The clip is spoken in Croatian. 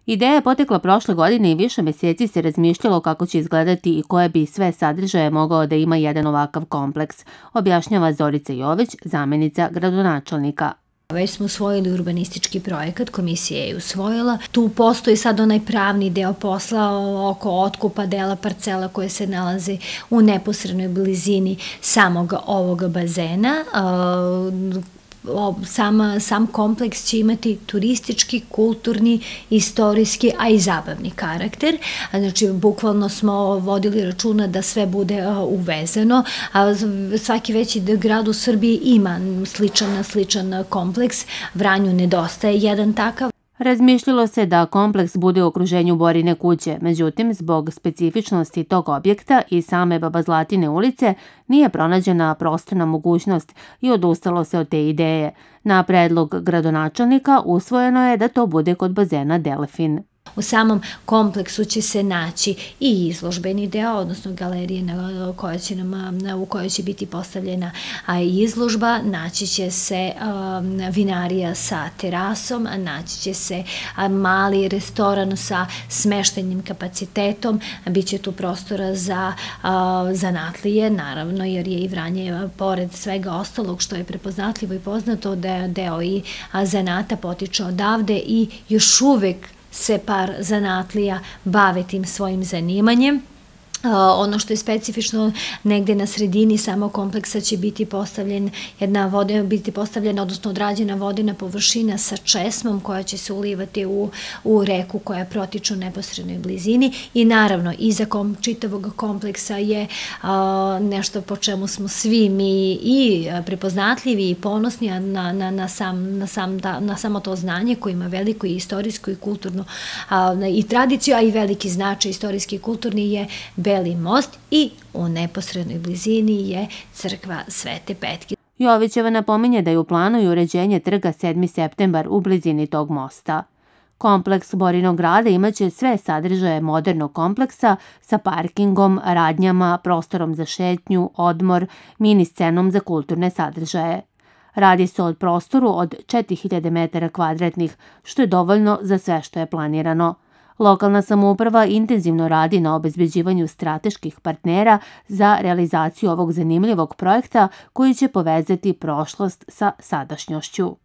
Ideja je potekla prošle godine i više meseci se razmišljalo kako će izgledati i koje bi sve sadržaje mogao da ima jedan ovakav kompleks, objašnjava Zorica Jović, zamenica gradonačelnika. Već smo usvojili urbanistički projekat, komisija je usvojila. Tu postoji sad onaj pravni deo posla oko otkupa dela parcela koje se nalazi u neposrednoj blizini samog ovog bazena. Sam kompleks će imati turistički, kulturni, istorijski, a i zabavni karakter. Znači, bukvalno smo vodili računa da sve bude uvezeno. Svaki veći grad u Srbiji ima sličan kompleks. Vranju nedostaje jedan takav. Razmišljalo se da kompleks bude u okruženju Borine kuće, međutim, zbog specifičnosti tog objekta i same Baba Zlatine ulice nije pronađena prostorna mogućnost i odustalo se od te ideje. Na predlog gradonačelnika usvojeno je da to bude kod bazena Delfin. U samom kompleksu će se naći i izložbeni deo, odnosno galerije u kojoj će biti postavljena izložba, naći će se vinarija sa terasom, naći će se mali restoran sa smeštajnim kapacitetom, bit će tu prostora za zanatlije, naravno, jer je i Vranje, pored svega ostalog što je prepoznatljivo i poznato, da deo i zanata potiče odavde i još uvek se par zanatlija bave tim svojim zanimanjem. Ono što je specifično, negde na sredini samog kompleksa će biti postavljena, odnosno odrađena vodena površina sa česmom koja će se ulivati u reku koja protiče u neposrednoj blizini i naravno iza čitavog kompleksa je nešto po čemu smo svi mi i prepoznatljivi i ponosni na samo to znanje koje ima veliko i istorijsko i kulturno i tradiciju, a i veliki značaj istorijski i kulturni je Beli most i u neposrednoj blizini je crkva Svete Petke. Jovićeva napominje da je u planu i uređenje trga 7. septembar u blizini tog mosta. Kompleks Borinog grada imaće sve sadržaje modernog kompleksa sa parkingom, radnjama, prostorom za šetnju, odmor, mini scenom za kulturne sadržaje. Radi se o prostoru od 4000 metara kvadratnih, što je dovoljno za sve što je planirano. Lokalna samouprava intenzivno radi na obezbeđivanju strateških partnera za realizaciju ovog zanimljivog projekta koji će povezati prošlost sa sadašnjošću.